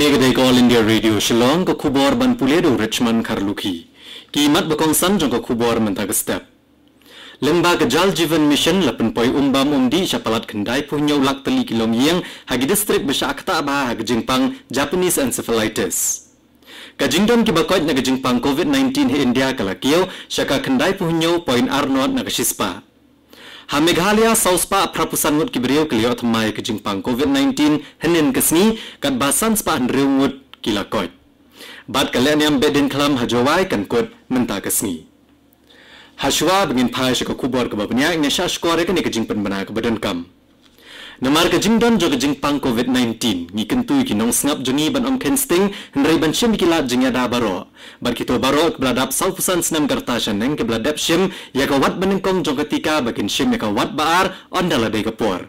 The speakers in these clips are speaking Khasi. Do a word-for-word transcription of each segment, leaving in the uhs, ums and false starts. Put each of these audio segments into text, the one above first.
Ka dei ka All India Radio Shillong, ka khubor ban pule da u Richmond Kharlukhi. Ki mat ba kongsan jong ka khubor mynta ka step. Lyngba ka Jal Jeevan Mission la pynpoi um bam um dih sha palat khyndai phew hynñiew lak tylli ki longïing ha ki distrik ba shah ktah bha ha ka jingpang Japanese encephalitis. Ka jingdon kiba koit na ka jingpang COVID nineteen ha India ka la kiew sha ka khyndai phew hynñiew point ar nod na ka shispah. Ha Meghalaya, saw spah phra phew san ngut ki briew ki la ïoh thymmai ka jingpang COVID nineteen hynnin ka sngi, katba san spah hynriew ngut ki la koit. Bad ka lehniam behdeiñkhlam ha Jowai kan kut mynta ka sngi. Hashwa ba ngin phai sha ka khubor kaba bniah, ngin ïa shah shkor ïa kane ka jingpynbna kaba donkam. Namar ka jingdon jong ka jingpang COVID nineteen, ngi kyntu ïa ki nongsngap jong ngi ban ym kheiñ sting, hynrei ban shim ïa ki lad jingïada baroh. Bad kito baroh kiba la dap saw phew san snem ka rta shaneng kiba la dep shim ïa ka wat banyngkong jong ka tika ba kin shim ïa ka wat ba ar, ynda la dei ka por.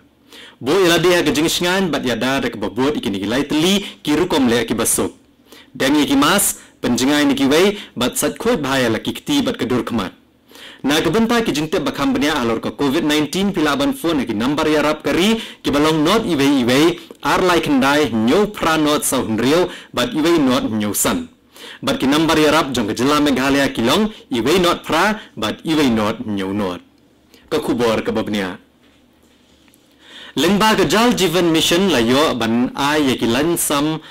Buh ïa lade ha ka jingshngaiñ bad ïada da kaba bud ïa kine ki lai tylli ki rukom leh kiba suk. Deng ïa ki mask, pynjngai na kiwei, bad sait khuid bha ïa la ki kti bad ka dur khmat. Na ka bynta ki jingtip ba kham bniah halor ka COVID nineteen, phi lah ban phone ha ki nambar ïarap ka ri kiba long nod iwei iwei, ar lai khyndai, hynñiew phra nod saw hynriew, bad iwei nod hynñiew san. Bad ki nambar ïarap jong ka jylla Meghalaya ki long iwei nod phra, bad iwei nod hynñiew nod. Ka khubor kaba bniah. Lyngba ka Jal Jeevan Mission la ïoh ban ai ïa ki lain sam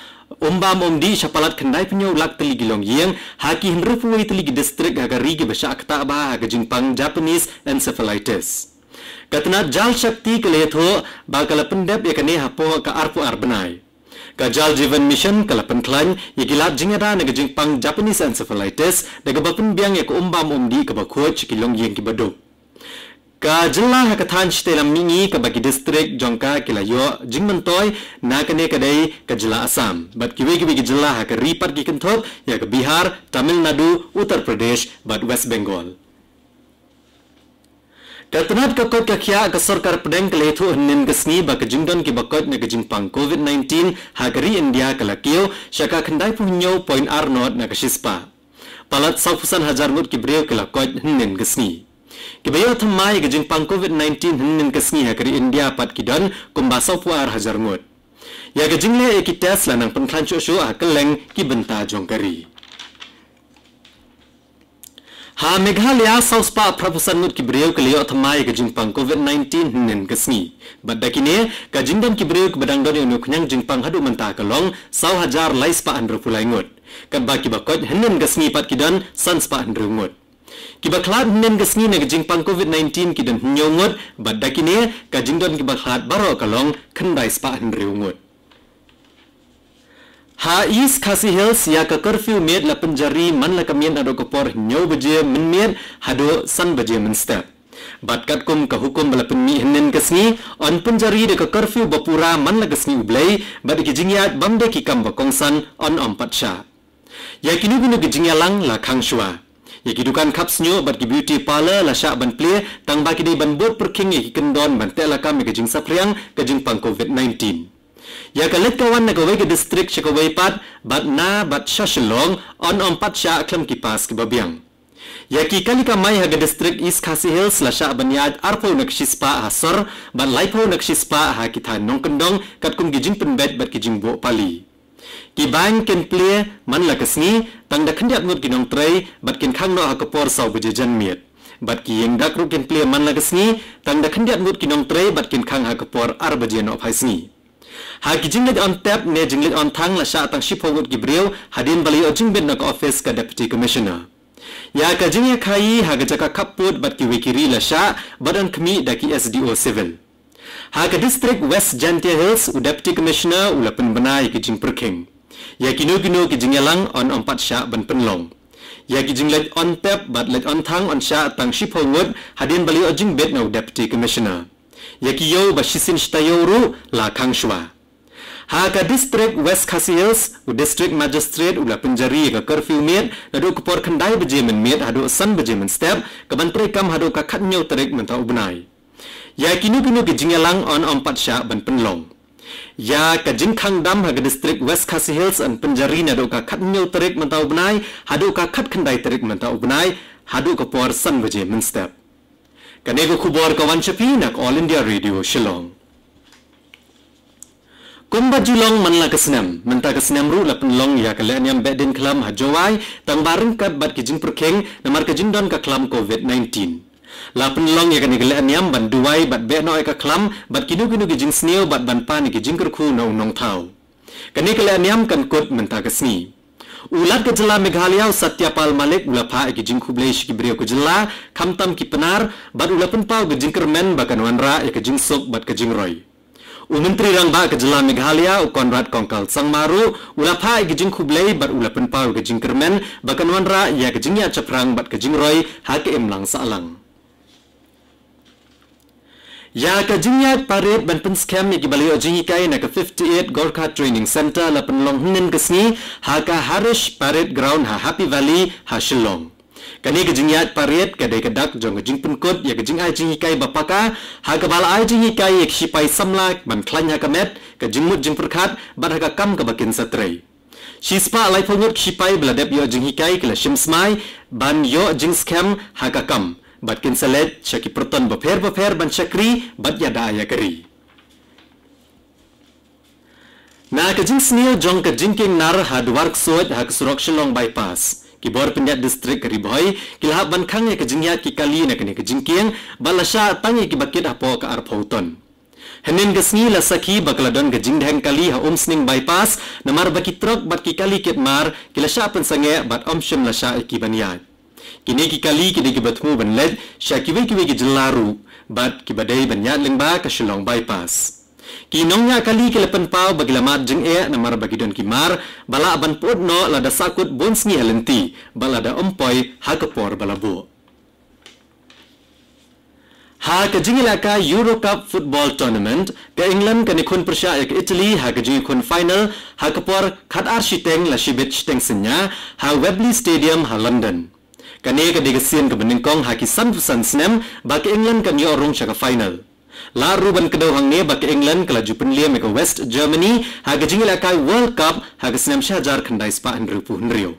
um bam um dih sha palat khyndai phew hynñiew lak tylli ki longïing ha ki hynriew phew wei tylli ki distrik ha ka ri kiba shah ktah bha ha ka jingpang Japanese encephalitis. Ka tnat Jal Shakti ka la ïathuh ba ka la pyndep ïa kane hapoh ka arphew ar bnai. Ka Jal Jeevan Mission ka la pynkhlaiñ ïa ki lad jingïada na ka jingpang Japanese encephalitis da kaba pynbiang ïa ka um bam um dih kaba khuid sha ki longïing kiba duk. Ka jylla ha ka thaiñ shatei lam mihngi kaba ki distrik jong ka ki la ïoh jingmyntoi na kane ka dei ka jylla Assam. Bad kiwei kiwei ki jylla ha ka ri pat ki kynthup ïa ka Bihar, Tamil Nadu, Uttar Pradesh, bad West Bengal. Ka tnat ka koit ka khiah, ka sorkar pdeng ka la ïathuh hynnin ka sngi ba ka jingdon kiba koit na ka jingpang COVID nineteen ha ka ri India ka la kiew sha ka khyndai phew hynñiew point ar nod na ka shispah. Palat saw phew san hajar ngut ki briew ki la koit hynnin ka sngi. Kiba ïoh thymmai ïa ka jingpang COVID nineteen hynnin ka sngi ha ka ri India pat ki don kumba saw phew ar hajar ngut. Ïa ka jingleh ïa ki test la nang pynkhlaiñ shuh shuh ha kylleng ki bynta jong ka ri. Ha Meghalaya, saw spah phra phew san ngut ki briew ki la ïoh thymmai ïa ka jingpang COVID nineteen hynnin ka sngi. Bad da kine, ka jingdon ki briew kiba dang don ïa une u khñiang jingpang haduh mynta ka long saw hajar lai spah hynriew phew lai ngut. Katba kiba koit hynnin ka sngi pat ki don san spah hynriew ngut. Kiba khlad hynnin ka sngi na ka jingpang COVID nineteen ki don hynñiew ngut, bad da kine ka jingdon kiba khlad baroh ka long khyndai spah hynriew ngut. Ha East Khasi Hills, ïa ka curfew miet la pynjari man la ka miet naduh ka por hynñiew baje mynmiet haduh san baje mynstep. Bad katkum ka hukum ba la pynmih hynnin ka sngi, yn pynjari da ka curfew ba pura man la ka sngi U Blei, bad ïa ki jingïaid bym dei ki kam ba kongsan yn ym pat shah. Ïa kino kino ki jingïalang la khang shuwa. Ïa ki dukan khap shñiuh bad ki beauty parlour la shah ban plie, tang ba ki dei ban bud pyrkhing ïa ki kyndon ban teh lakam ïa ka jingsaphriang ka jingpang COVID nineteen. Ïa ka leit ka wan na kawei ka distrik sha kawei pat, bad na bad sha Shillong, yn ym pat shah khlem ki pass kiba biang. Ïa ki kali kamai ha ka distrik East Khasi Hills la shah ban ïaid arphew na ka shispah ha sor, bad laiphew na ka shispah ha ki thaiñ nongkyndong, katkum ki jingpynbeit bad ki jingbuh pali. Ki bank kin plie man la ka sngi, tang da khyndiat ngut ki nongtrei, bad kin khang noh ha ka por saw baje janmiet. Bad ki ïing dak ruh kin plie man la ka sngi, tang da khyndiat ngut ki nongtrei, bad kin khang ha ka por ar baje nohphai sngi. Ha ki jingleit on tep ne jingleit on thang la shah tang shiphew ngut ki briew, hadien ba la ïoh jingbit na ka office ka Deputy Commissioner. Ïa ka jingïakhaïi ha ka jaka khappud bad kiwei ki ri la shah, bad yn khmih da ki S D O Civil. Ha ka distrik West Jaintia Hills, u Deputy Commissioner u la pynbna ïa ki jingpyrkhing. Ïa kino kino ki jingïalang yn ym pat shah ban pynlong. Ïa ki jingleit on tep bad leit on thang yn shah tang shiphew ngut, hadien ba la ïoh jingbit na u Deputy Commissioner. Ïa ki ïew ba shisien shi taïew ruh la khang shuwa. Ha ka distrik West Khasi Hills, u District Magistrate u la pynjari ïa ka curfew miet, naduh ka por khyndai baje mynmiet haduh san baje mynstep, kaban treikam haduh ka khathynñiew tarik mynta u bnai. Ïa kino kino ki jingïalang yn ym pat shah ban pynlong. Ïa ka jingkhang dam ha ka distrik West Khasi Hills yn pynjari naduh ka khathynñiew tarik mynta u bnai, haduh ka khatkhyndai tarik mynta u bnai, haduh ka por san baje mynstep. Kane ka khubor ka wan sha phi na ka All India Radio Shillong. Kumba ju long man la ka snem, mynta ka snem ruh la pynlong ïa ka lehniam Behdeiñkhlam ha Jowai, tang ba ryngkat bad ki jingpyrkhing namar ka jingdon ka khlam covid nineteen. La pynlong ïa kane ka lehniam ban duwai bad beh noh ïa ka khlam bad kino kino ki jingsniew bad ban pan ïa ki jingkyrkhu na u nongthaw. Kane ka lehniam kan kut mynta ka sngi. U Lat ka jylla Meghalaya u Satya Pal Malik u la phah ïa ki jingkhublei sha ki briew ka jylla, khamtam ki Pnar, bad u la pynpaw ka jingkyrmen ba kan wanrah ïa ka jingsuk bad ka jingroi. U Myntri Rangbah ka jylla Meghalaya u Conrad Kongkal Sangma ruh u la phah ïa ki jingkhublei bad u la pynpaw ïa ka jingkyrmen ba kan wanrah ïa ka jingïaid shaphrang bad ka jingroi ha ka imlang sahlang. Ïa ka jingïaid parade ban pynskhem ïa ki ba la ïoh jinghikai na ka fifty-eight Gorkha Training Centre la pynlong hynnin ka sngi ha ka Harish Parade Ground ha Happy Valley ha Shillong. Kane ka jingïaid parade ka dei ka dak jong ka jingpynkut ïa ka jingai jinghikai ba paka, ha kaba la ai jinghikai ïa ki shipai samla ban khlaiñ ha ka met, ka jingmut jingpyrkhat bad ha ka kam kaba kin sa trei. Shispah laiphew ngut ki shipai ba la dep ïoh jinghikai ki la shim smai ban ïoh jingskhem ha ka kam bad kin sa leit sha ki pyrton bapher bapher ban shakri bad ïada ïa ka ri. Na ka jingsniew jong ka jingkieng nar ha Dwar Ksuid ha ka surok Shillong Bypass, ki bor pynïaid district ka Ri Bhoi ki la hap ban khang ïa ka jingïaid ki kali na kane ka jingkieng bad la shah tang ïa ki bakit hapoh ka arphew ton. Hynnin ka sngi la sakhi ba ka la don ka jingdheng kali ha Umsning Bypass namar ba ki trok bad ki kali kit mar ki la shah pynsangeh bad ym shym la shah ïa ki ban ïaid. Kine ki kali ki dei kiba thmu ban leit sha kiwei kiwei ki jylla ruh bad kiba dei ban ïaid lyngba ka Shillong Bypass. Ki nongñiah kali ki la pynpaw ba ki la mad jingeh namar ba ki don ki mar ba lah ban pyut noh lada sahkut bun sngi ha lynti bad lada ym poi ha ka por ba la buh. Ha ka jingïalehkai Euro Cup Football Tournament, ka England kan ïakhun pyrshah ïa ka Italy ha ka jingïakhun final ha ka por khatar shiteng la shibit shiteng synñia ha Wembley Stadium ha London. Kane ka dei ka sien kaba nyngkong ha ki sanphew san snem ba ka England kan ïoh rung sha ka final. Lah ruh ban kdew hangne ba ka England ka la ju pynliem ïa ka West Germany ha ka jingïalehkai World Cup ha ka snem shihajar khyndai spah hynriewphew hynriew.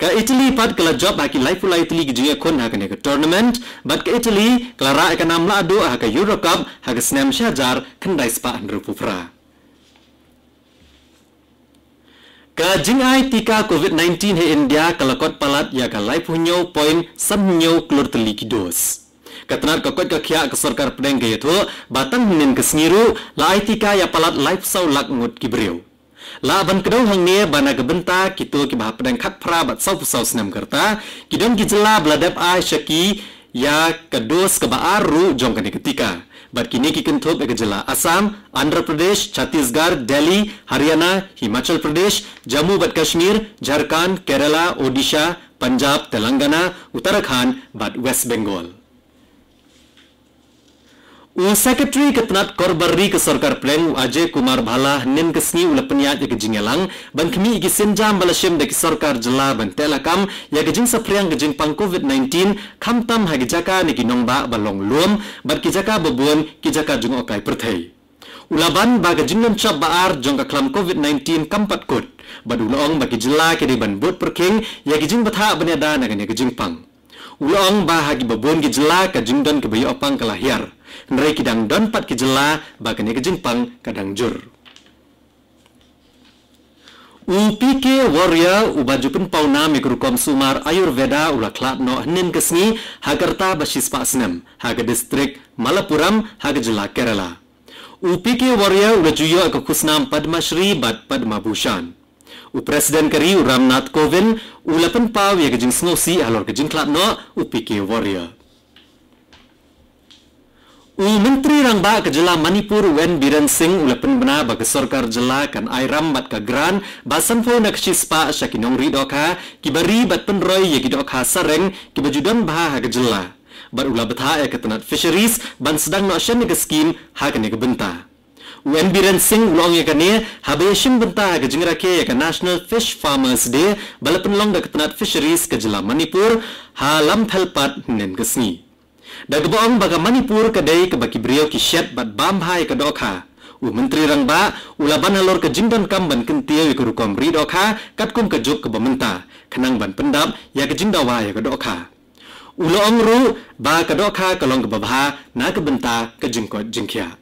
Ka Italy pat ka la jop ha ki laiphew lai tylli ki jingïakhun ha kane ka tournament bad ka Italy ka la rah ïa ka nam lahduh ha ka Euro Cup ha ka snem shihajar khyndai spah hynriewphew phra. Ka jingai tika covid nineteen ha India ka la kot palat ïa ka laiphew hynñiew point san hynñiew klur tylli ki dos. Ka tnat ka koit ka khiah ka sorkar pdeng ka ïathuh ba tang hynnin ka sngi ruh la ai tika ïa palat laiphew saw lak ngut ki briew. Lah ban kdew hangne ba na ka bynta kito kiba hapdeng khatphra bad sawphew saw snem ka rta ki don ki jylla ba la dep ai sha ki ïa ka dos kaba ar ruh jong kane ka tika. Bad kine ki kynthup ïa ka jylla Assam, Andhra Pradesh, Chhattisgarh, Delhi, Haryana, Himachal Pradesh, Jammu bad Kashmir, Jharkhand, Kerala, Odisha, Punjab, Telangana, Uttarakhand bad West Bengal. U Secretary ka tnat kor bar ri ka sorkar pdeng u Ajay Kumar Bhalla hynnin ka sngi u la pynïaid ïa ka jingïalang ban khmih ïa ki sienjam ba la shim da ki sorkar jylla ban teh lakam ïa ka jingsaphriang ka jingpang covid nineteen khamtam ha ki jaka ne ki nongbah ba long lum bad ki jaka ba bun ki jaka jngohkai pyrthei. U la ban ba ka jinglynshop ba ar jong ka khlam covid nineteen kam pat kut bad u la ong ba ki jylla ki dei ban bud pyrkhing ïa ki jingbthah ban ïada na kane ka jingpang. U la ong ba ha kiba bun ki jylla ka jingdon kiba ïoh pang ka la hiar, hynrei ki dang don pat ki jylla ba kane ka jingpang ka dang jur. U P K Warrior uba ju pynpaw nam ïa ka rukom sumar Ayurveda u la khlad noh hynnin ka sngi ha ka rta ba shispah snem ha ka distrik Malappuram ha ka jylla Kerala. U P K Warrior u la ju ïoh ïa ka khusnam Padma Shri bad Padma Bhushan. U President ka ri u Ram Nath Kovind u la pynpaw ïa ka jingsngewsih halor ka jingkhlad noh u P K Warrior. U Myntri Rangbah ka jylla Manipur u N Biren Singh u la pynbna ba ka sorkar jylla kan ai ram bad ka grant ba sanphew na ka shispah sha ki nongri dohkha kiba ri bad pynroi ïa ki dohkha sareng kiba ju don bha ha ka jylla. Bad u la bthah ïa ka tnat Fisheries ban sdang noh shen ïa ka skim ha kane ka bynta. U N Biren Singh u la ong ïa kane haba ïashim bynta ha ka jingrakhe ïa ka National Fish Farmers Day ba la pynlong da ka tnat Fisheries ka jylla Manipur ha Lamphel Patt hynnin ka sngi. Da kaba ong ba ka Manipur ka dei kaba ki briew ki shet bad bam bha ïa ka dohkha, u Myntri Rangbah u la ban halor ka jingdonkam ban kyntiew ïa ka rukom ri dohkha katkum ka juk kaba mynta khnang ban pyndap ïa ka jingdawa ïa ka dohkha. U la ong ruh ba ka dohkha ka long kaba bha na ka bynta ka jingkoit jingkhiah.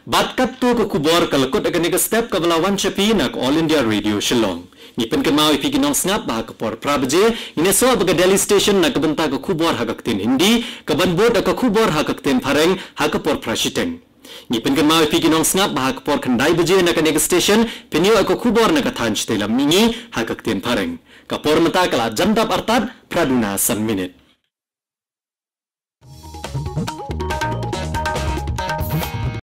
Bad katto ka khubor ka la kut ha kane ka step kaba la wan sha phi na ka All India Radio Shillong. Ngi pynkynmaw ïa phi ki nongsngap ba ha ka por phra baje ngin ïasoh bad ka Delhi Station na ka bynta ka khubor ha ka ktien Hindi, kaban bud da ka khubor ha ka ktien Phareng ha ka por phra shiteng. Ngi pynkynmaw ïa phi ki nongsngap ba ha ka por khyndai baje na kane ka station phin ïoh ïa ka khubor na ka thaiñ Shatei Lam Mihngi ha ka ktien Phareng. Ka por mynta ka la jan dap artat phra duna san minit.